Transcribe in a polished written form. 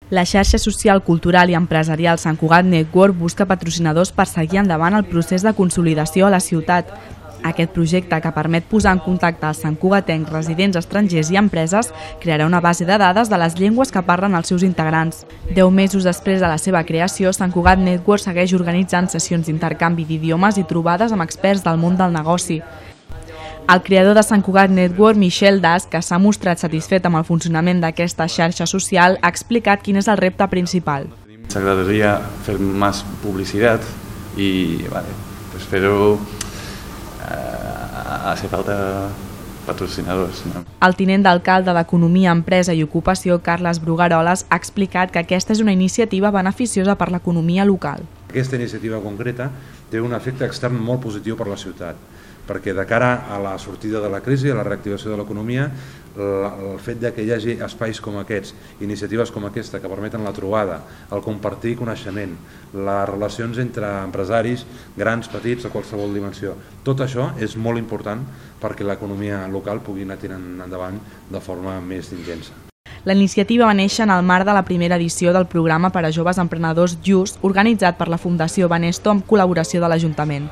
La xarxa social, cultural i empresarial Sant Cugat Network busca patrocinadors per seguir endavant el procés de consolidació a la ciutat. Aquest projecte, que permet posar en contacte els santcugatencs, residents estrangers i empreses, crearà una base de dades de les llengües que parlen els seus integrants. 10 mesos després de la seva creació, Sant Cugat Network segueix organitzant sessions d'intercanvi d'idiomes i trobades amb experts del món del negoci. El creador de Sant Cugat Network, Michel Das, que s'ha mostrat satisfet amb el funcionament d'aquesta xarxa social, ha explicat quin és el repte principal. Nos agradaría hacer más publicidad y pero hace falta patrocinadors. No? El tinent d'alcalde d'Economia, Empresa i Ocupació, Carles Brugaroles, ha explicat que aquesta és una iniciativa beneficiosa per l'economia local. Aquesta iniciativa concreta té un efecte extern molt positiu per la ciutat, perquè de cara a la sortida de la crisi, a la reactivació de l'economia, el fet que hi hagi espais com aquests, iniciatives com aquesta que permeten la trobada, el compartir coneixement, les relacions entre empresaris, grans, petits, de qualsevol dimensió, tot això és molt important perquè l'economia local pugui anar tirant endavant de forma més intensa. La iniciativa va néixer en el marc de la primera edició del programa per a joves emprenedors JUST, organitzat per la Fundació Banesto amb col·laboració de l'Ajuntament.